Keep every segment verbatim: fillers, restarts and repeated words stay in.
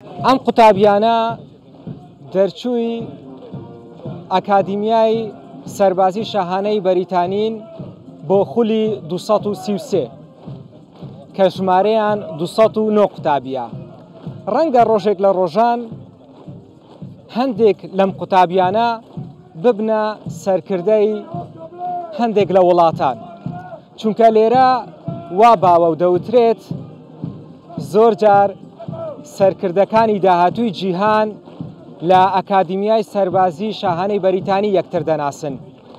ئەم قوتابیانە دەرچووی ئەکادیمیای سەربازی شاهانەی بەریتانین بۆ خولی دوو سەد و سی و سێ کە ژمارەیان دوو سەد و نۆ قوتابیە. ڕەنگە ڕۆژێک لە ڕۆژان هەندێک لەم قوتابیانە ببنە سەرکردەی هەندێک لە وڵاتان، چونکە لێرە وا باوە و دەوترێت زۆر جار سەرکردەکانی داهاتووی جیهان لە ئەکادیمیای سەربازی شاهانەی بەریتانی یەکتر دەناسن،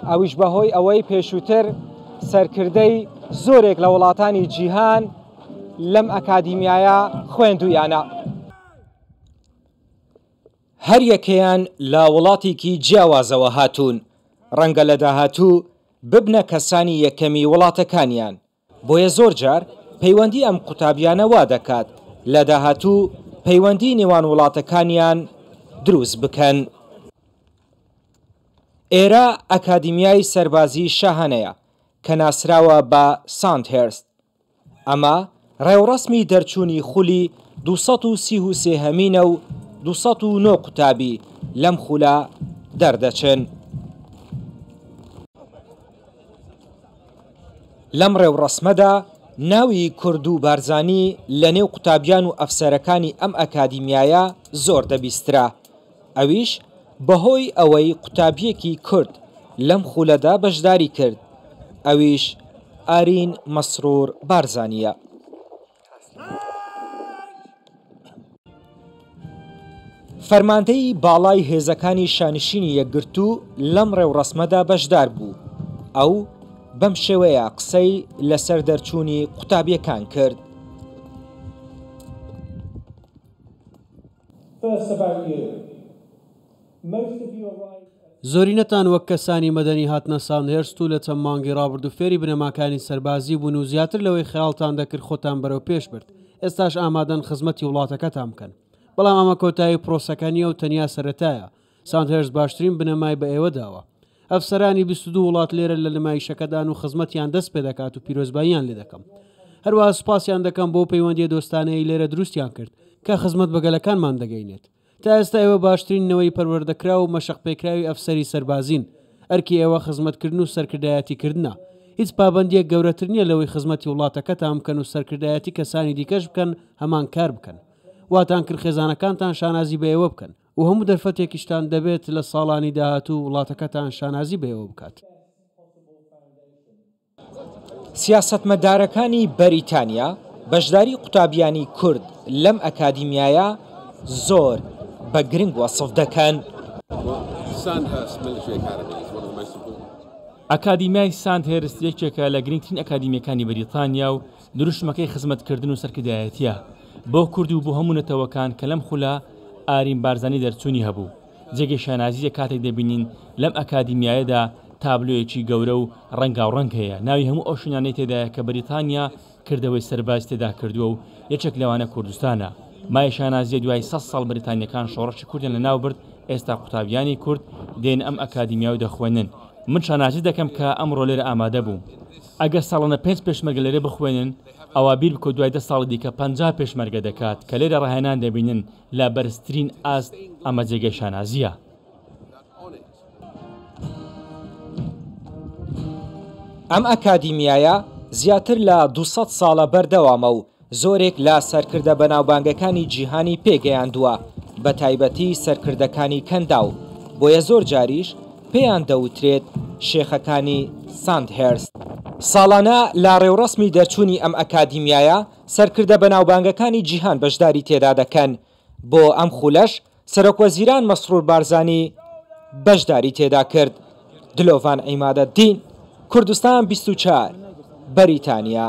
ئەویش بەهۆی ئەوەی پێشووتر سەرکردەی زۆرێک لە وڵاتانی جیهان لەم ئەکادیمیایە خوێندویانە. هەر یەکەیان لە وڵاتێکی جیاوازەوە هاتوون، ڕەنگە لە داهاتوو ببنە کەسانی یەکەمی وڵاتەکانیان، بۆیە زۆر جار پەیوەندی ئەم قوتابیانە وا دەکات لە داهاتوو پەیوەندی نێوان وڵاتەکانیان دروست بکەن. ئێرە ئەکادیمیای سەربازی شاهانەیە کە ناسراوە بە ساندهێرست. ئەمە ڕێوڕەسمی دەرچوونی خولی دوو سەد و سی و سێ هەمینە و دوو سەد و نۆ قوتابی لەم خولە دەردەچن. لەم ڕێوڕەسمەدا ناوی کورد و بارزانی لە نێو قوتابیان و ئەفسەرەکانی ئەم ئەکادیمیایە زۆر دەبیسترا، ئەویش بەهۆی ئەوەی قوتابیەکی کورد لەم خولەدا بەشداری کرد، ئەویش ئارین مەسرور بارزانیە. فەرماندەی باڵای هێزەکانی شانشینی یەکگرتوو لەم ڕێوڕەسمەدا بەشدار بوو. ئەو بەم شێوەیە قسەی لەسەر دەرچوونی قوتابیەکان کرد. زۆرینەتان وەک کەسانی مەدەنی هاتنە ساندهێرست و لە چەند مانگی ڕابردوو فێری بنەماکانی سەربازی بوون و زیاتر لەوەی خەیاڵتان دەکرد خۆتان بەرەو پێش برد. ئێستاش ئامادەن خزمەتی وڵاتەکەتان بکەن، بەڵام ئەمە کۆتایی پرۆسەکە نییە و تەنیا سەرەتایە. ساندهێرست باشترین بنەمای بە ئێوە داوە. ئەفسەرانی بیست و دوو وڵات لێرە لە نمایشەکەدان و خزمەتیان دەست پێ دەکات و پیرۆزباییان لێ دەکەم. هەروەها سوپاسیان دەکەم بۆ پەیوەندیە دۆستانەی لێرە دروستیان کرد کە خزمەت بە گەلەکانمان دەگەینێت. تا ئێستا ئێوە باشترین نەوەی پەروەردەکراو و مەشق پێکراوی ئەفسەری سەربازین. ئەرکی ئێوە خزمەتکردن و سەرکردایەتیکردنە. هیچ پابەندیەک گەورەتر نییە لەوەی خزمەتی وڵاتەکەتان بکەن و سەرکردایەتی کەسانی دیکەش بکەن هەمان کار بکەن. واتان کرد خێزانەکانتان شانازی بە ئێوە بکەن و هەموو دەرفەتێکیشتان دەبێت لە ساڵانی داهاتوو وڵاتەکەتان شانازی بە ئێوە بکات. سیاسەتمەدارەکانی بەریتانیا بەشداری قوتابیانی کورد لەم ئەکادیمیایە زۆر بە گرنگ وەسف دەکەن. ئەکادیمیای ساندهێرست یەکێکە لە گرنگترین ئەکادیمیەکانی بەریتانیا و دروشمەکەی خزمەتکردن و سەرکردایەتیە بۆ کورد و بۆ هەموو نەتەوەکان کە لەم خولە ئارین بارزانی دەرچوونی هەبوو. جێگەی شانازیە کاتێک دەبینین لەم ئەکادیمیایەدا تابلۆیەکی گەورە و ڕەنگاوڕەنگ هەیە، ناوی هەموو ئەو شوێنانەی تێدایە کە بەریتانیا کردەوەی سەرباز تێدا کردووە و یەکێک لەوانە کوردستانە. مای شانازیە دوای سەد ساڵ بەریتانیەکان شۆڕشی کوردیان لەناو برد، ئێستا قوتابیانی کورد دێن ئەم ئەکادیمیا و دەخوێنن. من شانازی دەکەم کە ئەمڕۆ لێرە ئامادە بووم. ئەگەر ساڵانە پێنج پێشمەرگە لێرە بخوێنن، ئەوە بیر بکە دوای دە ساڵی دیکە پەنجا پێشمەرگە دەکات کە لێرە ڕاهێنان دەبینن لە بەرزترین ئاست. ئەمە جێگەی شانازیە. ئەم ئەکادیمیایە زیاتر لە دوو سەد ساڵە بەردەوامە و زۆرێک لە سەرکردە بەناوبانگەکانی جیهانی پێگەیاندووە، بە تایبەتی سەرکردەکانی کەنداو، بۆیە زۆر جاریش پێیان دەوترێت شێخەکانی ساندهێرست. ساڵانە لە ڕێوڕەسمی دەرچوونی ئەم ئەکادیمیایە سەرکردە بەناوبانگەکانی جیهان بەشداری تێدا دەکەن. بۆ ئەم خولەش سەرۆک وەزیران مەسرور بارزانی بەشداری تێدا کرد. دلۆڤان عیمادەدین، کوردستان بیست و چوار، بەریتانیا.